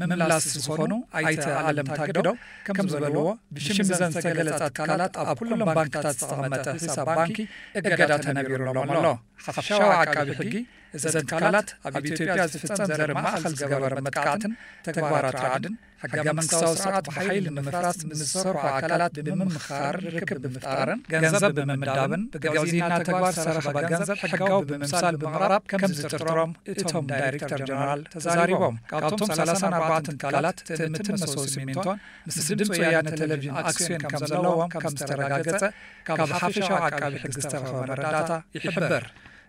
ምምላስ ዝኾኑ ኣይተ ኣለም ታግደው ከም ዝበልዎ፣ ብሽም ዘን ዝተገለፃ ትካላት ኣብ ኩሎም ባንክታት ዝተቐመጠ ሒሳብ ባንኪ እገዳ ተነቢሩሎም ኣሎ። ሓፈሻዊ ዓቃቢ ሕጊ እዘን ትካላት ኣብ ኢትዮጵያ ዝፍጸም ዘርኢ ማእኸል ዝገበረ መጥቃዕትን ተግባራት ራዕድን፣ ሕገ መንግስታዊ ስርዓት ብሓይሊ ንምፍራስ ምስ ዝሰርሑ ኣካላት ብምምኽኻርን ርክብ ብምፍጣርን፣ ገንዘብ ብምምዳብን፣ ብጋዜና ተግባር ዝተረኸበ ገንዘብ ሕጋዊ ብምምሳል ብምቕራብ ከም ዝጥርጥሮም እቶም ዳይሬክተር ጀነራል ተዛሪቦም። ካብቶም ሰላሳን ኣርባዕተን ትካላት ትእምትን መሰቦ ሲሚንቶን ምስ ድምፂ ወያነ ቴሌቪዥን ኣክሲዮን ከም ዘለዎም ከም ዝተረጋገጸ ካብ ሓፈሻዊ ዓቃቢ ሕጊ ዝተረኸበ መረዳእታ ይሕብር።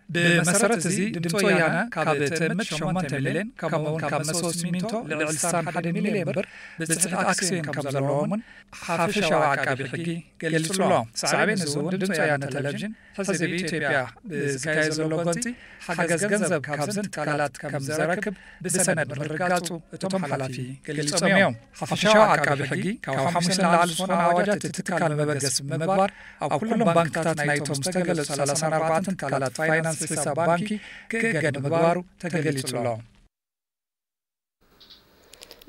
ብመሰረት እዚ ድምፂ ወያነ ካብ ትእምት ሸሞንተ ሚልዮን ከምኡ እውን ካብ መሰቦ ሲሚንቶ ልዕሊ ስሳን ሓደ ሚልዮን ብር ብፅሕት ኣክሲዮን ከም ዘለዎምን ሓፈሻዊ ዓቃቢ ሕጊ ገሊጹ ኣሎ። ሳዕቤን እዚ እውን ድምፂ ወያነ ቴሌቪዥን ሕዚ ብኢትዮጵያ ብዝካየድ ዘሎ ጎንፂ ሓገዝ ገንዘብ ካብዘን ትካላት ከም ዘረክብ ብሰነድ ምርጋፁ እቶም ሓላፊ ገሊጾም እዮም። ሓፈሻዊ ዓቃቢ ሕጊ ካብ ሓሙሽተ ንላዕሊ ዝኾኑ ኣዋጃት እቲ ትካል መበገሲ ብምግባር ኣብ ኩሎም ባንክታት ናይቶም ዝተገለጹ ሰላሳን ኣርባዕተን ትካላት ፋይናንስ ሒሳብ ባንኪ ክእገድ ምግባሩ ተገሊጹ ኣሎ።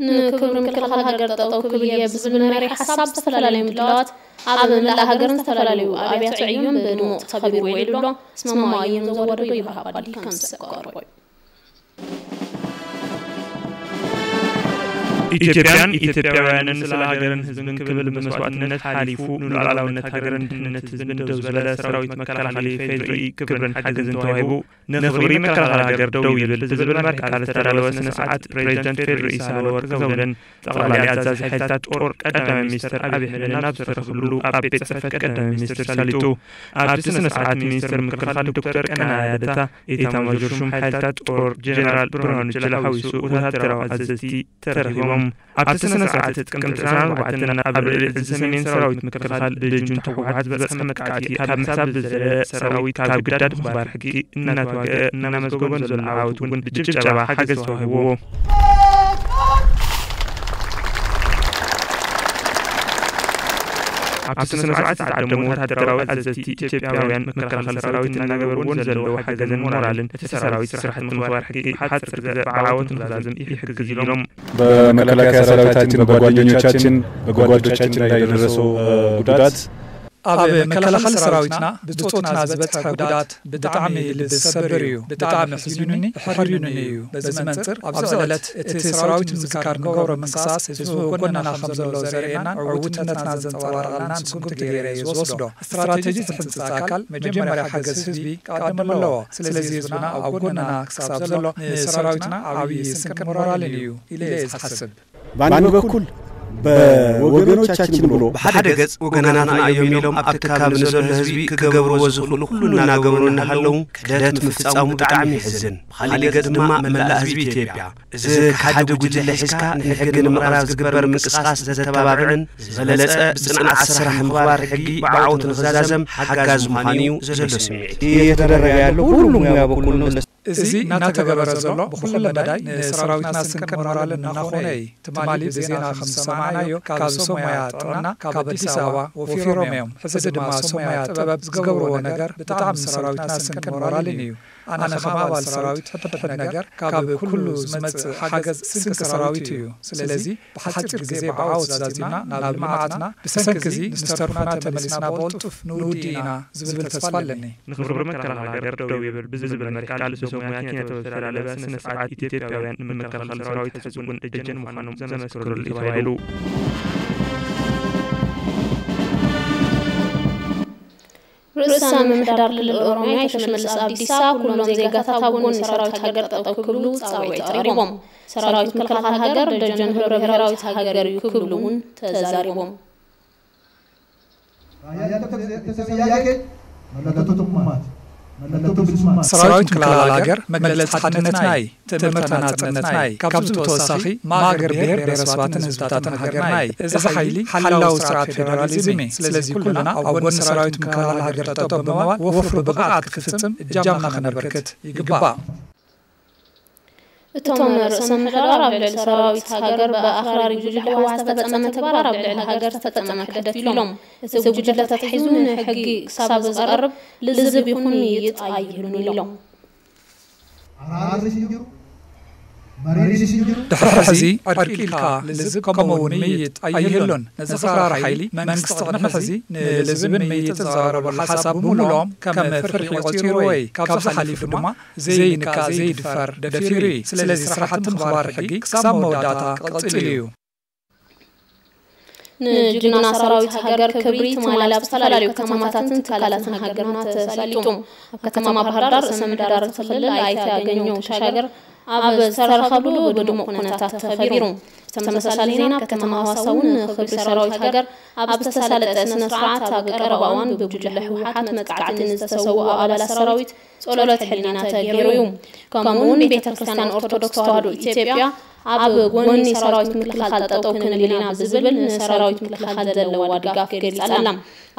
ንክብሪ ምክልኻል ሃገር ጠጠው ክብል እየ ብዝብል መሪሕ ሓሳብ ዝተፈላለዩ ምድላዋት ኣብ መላእ ሃገርን ዝተፈላለዩ ኣብያተ ዕዮን ብድሙቕ ተኸቢሩ ውዒሉ ኣሎ። ስመማ እዮም ዘወደዶ ይብሃብ ኣባዲ ከም ዝሰብ ክቐርቦ እዩ። ኢትዮጵያን ኢትዮጵያውያንን ስለ ሃገርን ህዝብን ክብል ብመስዋእትነት ሓሊፉ ንሉዓላውነት ሃገርን ድሕንነት ህዝብን ደው ዝበለ ሰራዊት መከላኸሊ ፌድሪ ክብርን ሓገዝን ተዋሂቡ ንኽብሪ መከላኸሊ ሃገር ደው ይብል ብዝብል መሪሕ ቃል ዝተዳለወ ስነ ስርዓት ፕሬዚደንት ፌድሪ ሳህለወርቅ ዘውደን ጠቕላሊ ኣዛዚ ሓይልታት ጦር ቀዳማይ ሚኒስትር ኣብይ ኣሕመድን ኣብ ዝተረኽብሉ ኣብ ቤት ጽሕፈት ቀዳማይ ሚኒስትር ሰሊጡ። ኣብቲ ስነ ስርዓት ሚኒስትር ምክልኻል ዶክተር ቀነዓ ያደታ፣ ኤታማዦር ሹም ሓይልታት ጦር ጀነራል ብርሃኑ ጁላ ሓዊሱ ወታደራዊ ኣዘዝቲ ተረኺቦም። ኣብቲ ስነ ስርዓት ጥቅምቲ ዕስራን ኣርባዕተን ኣብ ልዕሊ ዕዚ ሰሜን ሰራዊት ምክልኻል ብጁንታ ህወሓት ዝበፅሐ መጥቃዕቲ ካብ ምሳብ ዝዘለለ ሰራዊት ካብ ግዳድ ምኽባር ሕጊ እናተዋግአ እናመዝገቦ ንዘሎ ዓወት እውን ብጭብጨባ ሓገዝ ተዋሂብዎ። ኣብቲ ስነ ስርዓት ዝተዓደሙ ወታደራዊ ኣዘዝቲ ኢትዮጵያውያን መከላኸሊ ሰራዊት እናገበርዎ ንዘለዎ ሓገዝን ሞራልን እቲ ሰራዊት ስራሕቲ ምኽባር ሕጊ ብሓፂር ግዘ ብዓወት ንክዛዝም ይሕግዝ ኢሎም። በመከላከያ ሰራዊታችን በጓደኞቻችን በጓዶቻችን ላይ የደረሰው ጉዳት ኣብ መከላኸሊ ሰራዊትና ብጾትና ዝበፅሐ ጉዳት ብጣዕሚ ልቢ ዝሰብር እዩ። ብጣዕሚ ሕዚኑኒ ሕሪኑኒ እዩ። በዚ መንፅር ኣብዚ ዕለት እቲ ሰራዊት ንምዝካር ንገብሮ ምንቅስቃስ ህዝቢ ጎንና ከም ዘሎ ዘርእየናን ዕውትነትና ዘንፀባረቐልናን ስጉምቲ ገይረ እየ ዝወስዶ። ስትራተጂ ዝሕንፅፅ ኣካል መጀመርያ ሓገዝ ህዝቢ ክቐድም ኣለዎ። ስለዚ ህዝብና ኣብ ጎንና ክሳብ ዘሎ ንሰራዊትና ዓብዪ ስንቅን ሞራልን እዩ ኢለ እየ ዝሓስብ። በአንድ በኩል በወገኖቻችን ብሎ ብሓደ ገጽ ወገናትና እዮም ኢሎም ኣብ ትካብ ንዘሎ ህዝቢ ክገብርዎ ዝኽእሉ ኩሉ እናገበሩ እናሃለዉ ክሕደት ምፍጻሙ ብጣዕሚ የሕዝን። ብኻሊእ ገጽ ድማ መላእ ህዝቢ ኢትዮጵያ እዚ ከሓዲ ጉጅለ ሒዝካ ንሕጊ ንምቕራብ ዝግበር ምንቅስቃስ ዘተባብዕን ዝበለጸ ብጽንዓት ስራሕ ምኽባር ሕጊ ብዓወት ንኽዛዘም ሓጋዚ ምዃኑ እዩ ዘሎ ስምዒት። እየተደረገ ያለው ሁሉም ሙያ በኩል ነው። እዚ እናተገበረ ዘሎ ብኹለ መዳይ ንሰራዊትና ስንቅን ሞራልን እናኾነ እዩ። ትማሊ ብዜና ከም ዝሰማዕናዮ ካብ ሰብ ሞያ ጥዕና ካብ ኣዲስ ኣበባ ወፊሮም እዮም። ሕዚ ድማ ሰብ ሞያ ጥበብ ዝገብርዎ ነገር ብጣዕሚ ንሰራዊትና ስንቅን ሞራልን እዩ። ኣነ ከም ኣባል ሰራዊት ሕድሕድ ነገር ካብ ኩሉ ዝመጽእ ሓገዝ ስንቂ ሰራዊት እዩ። ስለዚ ብሓጺር ግዜ ብዓወት ዛዚምና ናብ ልምዓትና ብሰንኪ እዚ ንዝተርፉና ተመሊስና ብቕልጡፍ ንውዲ ኢና ዝብል ተስፋ ኣለኒ። ንኽብሪ መከላኸሊ ሃገር ደው ይብል ብዝብል መሪ ቃል ብሰብ ሞያ ኪነ ጥበብ ዝተዳለወ ስነ ስርዓት ኢትዮጵያውያን ንመከላኸሊ ሰራዊት ሕዝቡን ደጀን ምዃኖም ዘመስክሩሉ እዩ ተባሂሉ። ርእሰ ምምሕዳር ክልል ኦሮሚያ ኣይተ ሽመልስ ኣብዲሳ ኩሎም ዜጋታት ኣብ ጎኒ ሰራዊት ሃገር ጠጠው ክብሉ ጻውዒት ኣቕሪቦም። ሰራዊት ምክልኻል ሃገር ደጀን ህብረ ብሄራዊት ሃገር እዩ ክብሉ እውን ተዛሪቦም። ራያ ተብዘ- ተሰብ ጥያቄ መለከቱ ትኩማት መለከቱ ብልስማት ሰራዊት ምክልኻል ሃገር መግለጺ ሓድነትና እዩ። ትእምርትና ናጽነትና እዩ። ካብዚ ብተወሳኺ ማእገር ብሄር ብሄረሰባትን ህዝብታትን ሃገርና እዩ። እዚ ሓይሊ ሓላዊ ስርዓት ፌደራሊዝም እዩ። ስለዚ ኩልና ኣብ ጎኒ ሰራዊት ምክልኻል ሃገር ጠጠው ብምባል ወፍሪ ብቕዓት ክፍጽም እጃምና ክነበርክት ይግባእ። እቶም ርእሰ ምምሕዳር ኣብ ልዕሊ ሰራዊት ሃገር ብኣኽራሪ ጉጅለ ህወሓት ዝተፈጸመ ተግባር ኣብ ልዕሊ ሃገር ዝተፈጸመ ክሕደት ኢሎም። እቲ ጉጅለ ተታሒዙ ንሕጊ ክሳብ ዝቐርብ ልዝብ ይኹን ምይይጥ ኣይህሉን ኢሎም። ድሕሪ ሕዚ ዕርቂ ኢልካ ልዝብ ከምኡ እውን ምይይጥ ኣይህሉን። ነዚ ኣኽራሪ ሓይሊ መንግስቲ ቅድሚ ሕዚ ንልዝብን ምይይጥን ዘቕረበሉ ሓሳብ ብምሉኦም ከም ፍርሒ ቆጺርዎ እዩ። ካብዚ ሓሊፉ ድማ ዘይንካእ ዘይድፈር ደፊሩ እዩ። ስለዚ ስራሕቲ ምኽባር ሕጊ ክሳብ መወዳእታ ክቕጽል እዩ። ንጅግና ሰራዊት ሃገር ክብሪ ትማሊ ኣብ ዝተፈላለዩ ከተማታትን ትካላትን ሃገርና ተሳሊጡ። ኣብ ከተማ ባህርዳር ርእሰ ምምሕዳር እቲ ክልል ኣይተ ኣገኘው ተሻገር ኣብ ዝተረኸብሉ ብድሙቕ ኩነታት ተኸቢሩ። ብተመሳሳሊ ዜና ኣብ ከተማ ሃዋሳ እውን ክብሪ ሰራዊት ሃገር ኣብ ዝተሳለጠ ስነ ስርዓት ኣብ ቀረባ እዋን ብጉጅለ ህወሓት መጥቃዕቲ ንዝተሰውኡ ኣባላት ሰራዊት ጸሎት ሕሊና ተገይሩ እዩ። ከምኡ እውን ቤተ ክርስቲያን ኦርቶዶክስ ተዋህዶ ኢትዮጵያ ኣብ ጎኒ ሰራዊት ምክልኻል ጠጠው ክንብል ኢና ብዝብል ንሰራዊት ምክልኻል ዘለዋ ድጋፍ ገሊጻ ኣላ።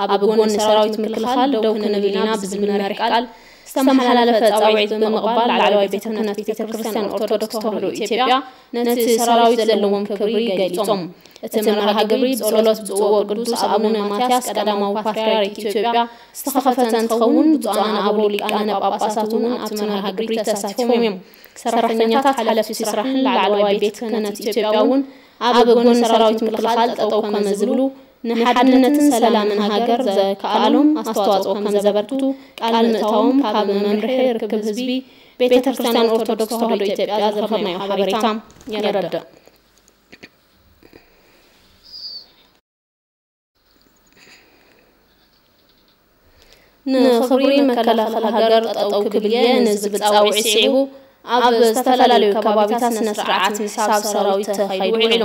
ኣብ ጎኒ ሰራዊት ምክልኻል ደው ክንብል ኢና ብዝብል መሪሕ ቃል ዝተመሓላለፈ ጻውዒት ብምቕባል ላዕለዋይ ቤተ ክህነት ቤተ ክርስቲያን ኦርቶዶክስ ተዋህዶ ኢትዮጵያ ነቲ ሰራዊት ዘለዎም ክብሪ ገሊጾም። እቲ መርሃ ግብሪ ብጸሎት ብፁዕ ወቅዱስ ኣቡነ ማትያስ ቀዳማዊ ፓትርያርክ ኢትዮጵያ ዝተኸፈተ እንትኸውን ብፁዓን ኣበው ሊቃነ ጳጳሳት እውን ኣብቲ መርሃ ግብሪ ተሳቲፎም እዮም። ሰራሕተኛታት ሓለፍቲ ስራሕን ላዕለዋይ ቤት ክህነት ኢትዮጵያ እውን ኣብ ጎኒ ሰራዊት ምክልኻል ጠጠው ከመ ዝብሉ ንሓድነትን ሰላምን ሃገር ዘከኣሎም ኣስተዋፅኦ ከም ዘበርክቱ ቃል ምእታዎም ካብ መምርሒ ርክብ ህዝቢ ቤተ ክርስቲያን ኦርቶዶክስ ተዋህዶ ኢትዮጵያ ዝረኸብናዮ ሓበሬታ የረድእ። ንኽብሪ መከላኸሊ ሃገር ጠጠው ክብል እየ ንዝብል ፃውዒት ስዒቡ ኣብ ዝተፈላለዩ ከባቢታት ስነ ስርዓት ምስሓብ ሰራዊት ተኻይዱ ውዒሉ።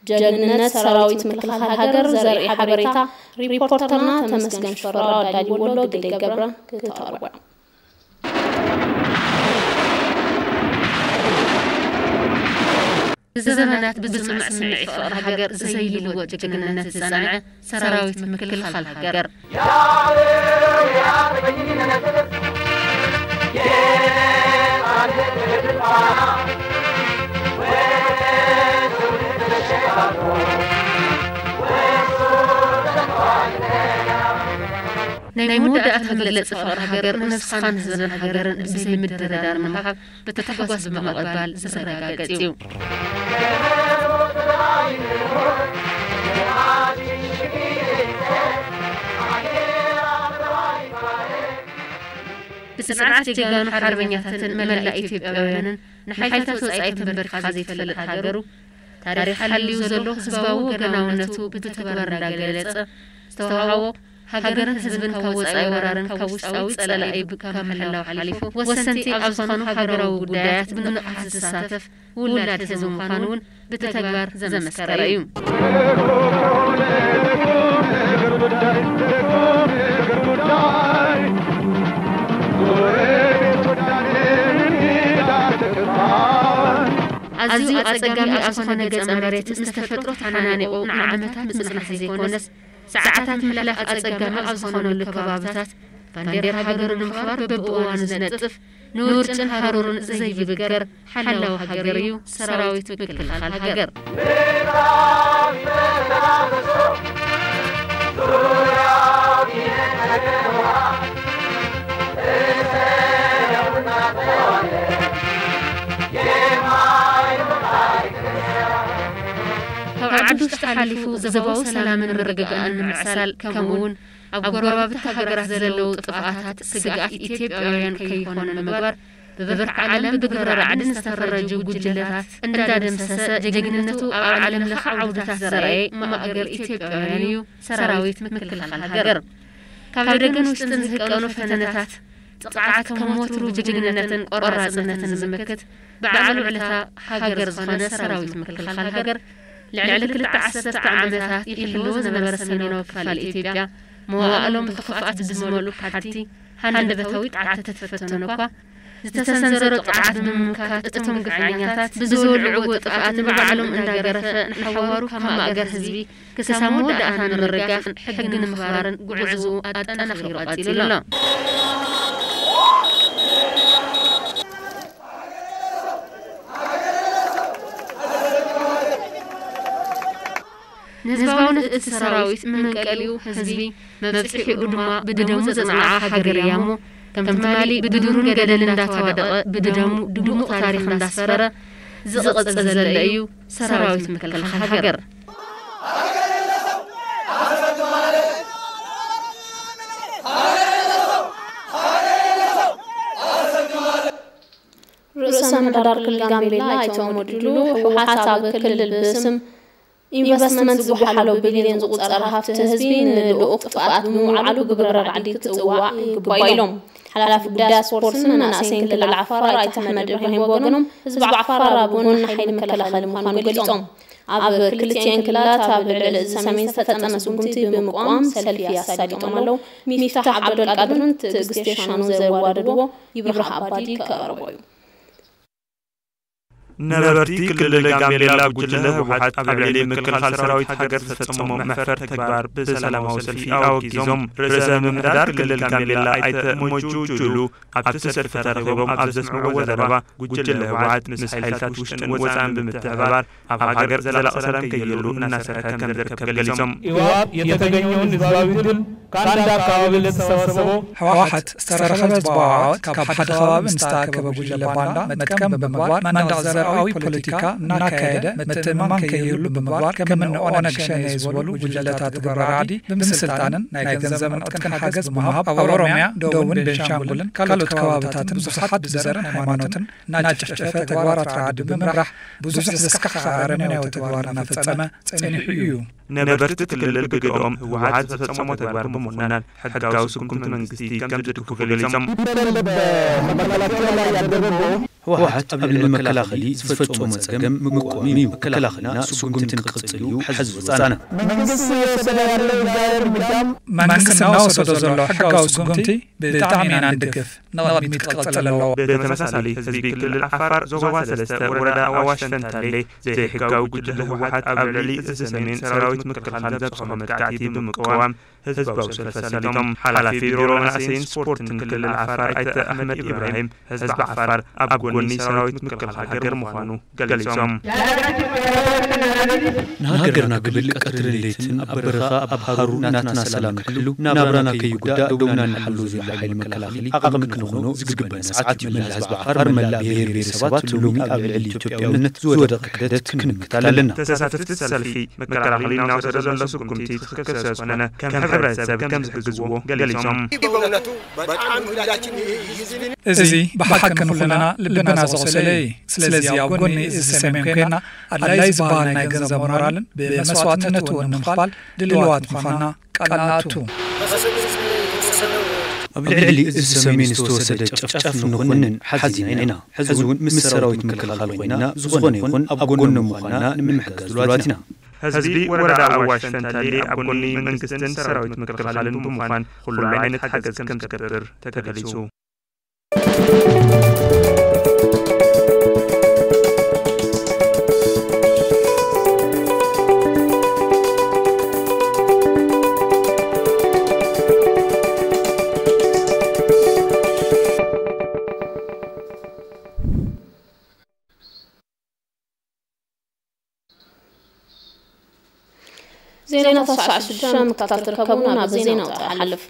ጀግንነት ሰራዊት ምክልኻል ሃገር ዘርኢ ሓበሬታ ሪፖርተርና ተመስገን ሽፈራው ኣዳልይዎ ኣሎ። ግደይ ገብረ ክተቕርቦ። ንዘመናት ብዝጽንዕ ስምዒት ፍቕሪ ሃገር ዘይልወጥ ጅግንነት ዝጸንዐ ሰራዊት ምክልኻል ሃገር። ናይ መወዳእታ መግለጺ ፍቕሪ ሃገር ንነብስኻን ህዝብን ሃገርን ብዘይ ምድርዳር ንምሃብ ብታሕጓስ ብምቕባል ዘረጋግጽ እዩ። ብጽንዓት ጀጋኑ ሓርበኛታትን መላእ ኢትዮጵያውያንን ንሓይልታት ወጻኢ ተንበርኪኻ ዘይትፈልጥ ሃገሩ ታሪኽ ሓልዩ ዘሎ ህዝባዊ ወገናውነቱ ብተግባር እንዳገለጸ ዝተዋህቦ ሃገርን ህዝብን ካብ ወጻኢ ወራርን ካብ ውሽጣዊ ጸላኢ ካብ ምህላው ሓሊፉ፣ ወሰንቲ ኣብ ዝኾኑ ሃገራዊ ጉዳያት ብንቕሓት ዝሳተፍ ውላድ ህዝቢ ምዃኑ እውን ብተግባር ዘመስከረ እዩ። ኣዝዩ ኣጸጋሚ ኣብ ዝኾነ ገጸ መሬት ምስ ተፈጥሮ ተሓናኒቑ ንዓመታት ምጽናሕ ዘይኮነስ፣ ሰዓታት ምሕላፍ ኣጸጋሚ ኣብ ዝኾነሉ ከባብታት፣ ባንዴራ ሃገሩ ንምኽባር በብእዋኑ ዝነጥፍ፣ ንውርጭን ሃሩርን ዘይብገር ሓላዊ ሃገር እዩ ሰራዊት ምክልኻል ሃገር። ካብ ዓዲ ውሽጢ ሓሊፉ ዞባዊ ሰላምን ምርግጋእን ንምዕሳል፣ ከምኡ እውን ኣብ ጎረባብቲ ሃገራት ዘለዉ ጥፍኣታት ስግኣት ኢትዮጵያውያን ከይኾኑ ንምግባር፣ ብብርኪ ዓለም ብግብረ ራዕዲ ዝተፈረጁ ጉጅለታት እንዳደምሰሰ፣ ጀግንነቱ ኣብ ዓለም ለኸ ዓውድታት ዘርኣየ ማእገር ኢትዮጵያውያን እዩ ሰራዊት ምክልኻል ሃገር። ካብ ደገን ውሽጥን ዝህቀኑ ፈተነታት፣ ጥቕዓት ከም ወትሩ ብጅግንነትን ቆራጽነትን ዝምክት፣ በዓል ውዕለታ ሃገር ዝኾነ ሰራዊት ምክልኻል ሃገር፣ ልዕሊ ክልተ ዓሰርተ ዓመታት ይሕልዎ ዝነበረ ሰሜናዊ ክፋል ኢትዮጵያ፣ መዋእሎም ብኽፍኣት ብዝመልኡ ሓድቲ ሃንደበታዊ ጥቃዓት ተፈተኑ እኳ፣ ዝተሰንዘሮ ጥቃዓት ብምምካት፣ እቶም ግፍዓኛታት ብዝወልዕዎ ጥፍኣት ንባዕሎም እንዳገረፈ፣ ንሓዋሩ ካብ ማእገር ህዝቢ ክሳብ መወዳእታ ንምርጋፍ ሕጊ ንምኽባርን ጉዕዝኡ ኣጠናኺሩ ቀጺሉ ኣሎ። ንህዝባውነት እቲ ሰራዊት መንቀሊኡ ህዝቢ፣ መብጽሒኡ ድማ ብደሙ ዘጽንዓ ሃገር እያ እሞ፣ ከም ትማሊ ብዱርን ገደልን እንዳተዋደቐ፣ ብደሙ ድሙቕ ታሪኽ እንዳስፈረ ዝቕጽል ዘሎ እዩ ሰራዊት ምክልኻል ሃገር። ርእሰ ምምሕዳር ክልል ጋምቤላ ኣይተ ኡመር ዱሉ፣ ህወሓት ኣብ ክልል ብስም ኢንቨስትመንት ዝጓሓሎ ቢልዮን ዝቑጸር ሃፍቲ ህዝቢ ንልኡኽ ጥፍኣት ንምውዓሉ ብግብረ ራዕዲ ክጽዋዕ ይግባእ ኢሎም። ሓላፊ ጉዳያት ስፖርትን መናእሰይን ክልል ዓፋር ኣይተ ኣሕመድ እብራሂም ብወገኖም፣ ህዝቢ ዓፋር ኣብ ጎኒ ሓይሊ መከላኸሊ ምዃኑ ገሊጾም። ኣብ ክልቲኤን ክልላት ኣብ ልዕሊ እዚ ሰሜን ዝተጠመ ስጉምቲ ብምቋም ሰልፊ ኣሳሊጦም ኣለዉ። ሚፍታሕ ዓብደልቃድርን ትዕግስቲ ሻኑ ዘዋደድዎ ይብራህ ኣባዲ ከቕርቦ እዩ። ነበርቲ ክልል ጋምቤላ ጉጅለ ህወሓት ኣብ ልዕሊ ምክልኻል ሰራዊት ሃገር ዝፈጸሞ መሕፈር ተግባር ብሰላማዊ ሰልፊ ኣወጊዞም። ርእሰ ምምሕዳር ክልል ጋምቤላ ኣይተ ሞጁ ጁሉ ኣብቲ ሰልፊ ተረኺቦም ኣብ ዘስምዕዎ ዘረባ፣ ጉጅለ ህወሓት ምስ ሓይልታት ውሽጥን ወፃእን ብምትሕብባር ኣብ ሃገር ዘላቒ ሰላም ከይህሉ እናሰርሐ ከም ዝርከብ ገሊጾም። ኢዋብ የተገኘውን ህዝባዊ ድል ከአንድ አካባቢ ለተሰበሰበው ህወሓት ዝተረኸበ ህዝባዊ ዓወት ካብ ሓደ ከባቢ ንዝተኣከበ ጉጅለ ባንዳ መጥቀም ብምግባር መንደቕ ዘርኣዊ ፖለቲካ እናካየደ ምትእምማን ከይህሉ ብምግባር ከም እኒ ኦነግ ሸኔ ዝበሉ ጉጅለታት ግብረ ራዕዲ ብምስልጣንን ናይ ገንዘብን ዕጥቅን ሓገዝ ብምሃብ ኣብ ኦሮሚያ፣ ደቡብን ቤንሻንጉልን ካልኦት ከባብታትን ብዙሓት ብዘርን ሃይማኖትን እናጨፍጨፈ ተግባራት ራዕዲ ብምምራሕ ብዙሕ ዘስካሕክሕ ኣረመኔያዊ ተግባር እናፈጸመ ጸኒሑ እዩ። ነበርቲ እቲ ክልል ብግደኦም ህወሓት ዝፈጸሞ ተግባር ብምኹናን ሕጋዊ ስጉምቲ መንግስቲ ከም ዝድግፉ ገሊጾም። ቢደል በመከላከያ ላይ ያደረገው ህወሓት ኣብ ልዕሊ መከላኸሊ ዝፈጸሞ ጸገም ምቁም እዩ። መከላኸልና ስጉምቲ ንክቕጽል እዩ ሕዚ ዝወጻና። መንግስት እየወሰደ ያለው ህጋዊ እርምጃም መንግስት እናወሰዶ ዘሎ ሕጋዊ ስጉምቲ ብጣዕሚ ኢና ንድግፍ። ንቕድሚት ክቕጽል ኣለዎ። ብተመሳሳሊ ህዝቢ ክልል ዓፋር ዞባ ሰለስተ ወረዳ ኣዋሽ ፈንታሌ ዘይሕጋዊ ጉጅለ ህወሓት ኣብ ልዕሊ እዚ ሰሜን ሰራዊት ምክልኻል ዘብፅሖ መጥቃዕቲ ብምቅዋም ህዝባዊ ሰልፊ ኣሳሊጦም። ሓላፊ ቢሮ መናእሰይን ስፖርትን ክልል ዓፋር ኣይተ ኣሕመድ ኢብራሂም ህዝቢ ዓፋር ኣብ ጎኒ ሰራዊት ምክልኻል ሃገር ምዃኑ ገሊጾም። ንሃገርና ክብል ቀትርን ለይትን ኣብ በረኻ ኣብ ሃሩር ናትና ሰላም ንሕሉ ናብራና ከይጉዳእ ደውና ንሓሉ ዘሎ ሓይሊ መከላኸሊ ዓቕሚ ክንኾኖ ዝግበና ሰዓት እዩ። መላእ ህዝቢ ዓፋር መላእ ብሄር ብሄረሰባት ሎሚ ኣብ ልዕሊ ኢትዮጵያውነት ዝወደቐ ክሕደት ክንምክት ኣለና። ተሳተፍቲ ሰልፊ መከላኸሊ እናወሰደ ዘሎ ስጉምቲ ትኽክል ስለዝኾነ ከም ሕብረተሰብ ከም ዝሕግዝዎ ገሊጾም። በእውነቱ በጣም ሁላችን ይህ ህዝብ እዚ ብሓቂ ንኹልና ልብና ዘቑሰለ እዩ። ስለዚ ኣብ ጎኒ እዚ ሰሜን ኮይና ኣድላይ ዝበሃል ናይ ገንዘብ ሞራልን ብመስዋዕትነት እውን ንምኽፋል ድልዋት ምዃንና ቃል ንኣቱ። ኣብ ልዕሊ እዚ ሰሜን ዝተወሰደ ጨፍጫፍ ንኾንን ሓዚና ኢና። ሕዚ እውን ምስ ሰራዊት ምክልኻል ኮይና ዝኾነ ይኹን ኣብ ጎኖም ምዃንና ንምሕጋዝ ድሉዋት ኢና። ህዝቢ ወረዳ ኣዋሽ ፈንታሌ ኣብ ጎኒ መንግስትን ሰራዊት ምክልኻልን ብምዃን ኩሉ ዓይነት ሓገዝ ከም ዝገብር ተገሊጹ። ዜና ተስዓት ሽዱሽተ ምክታተል ከብና ብዜና ወጣ ሓልፍ።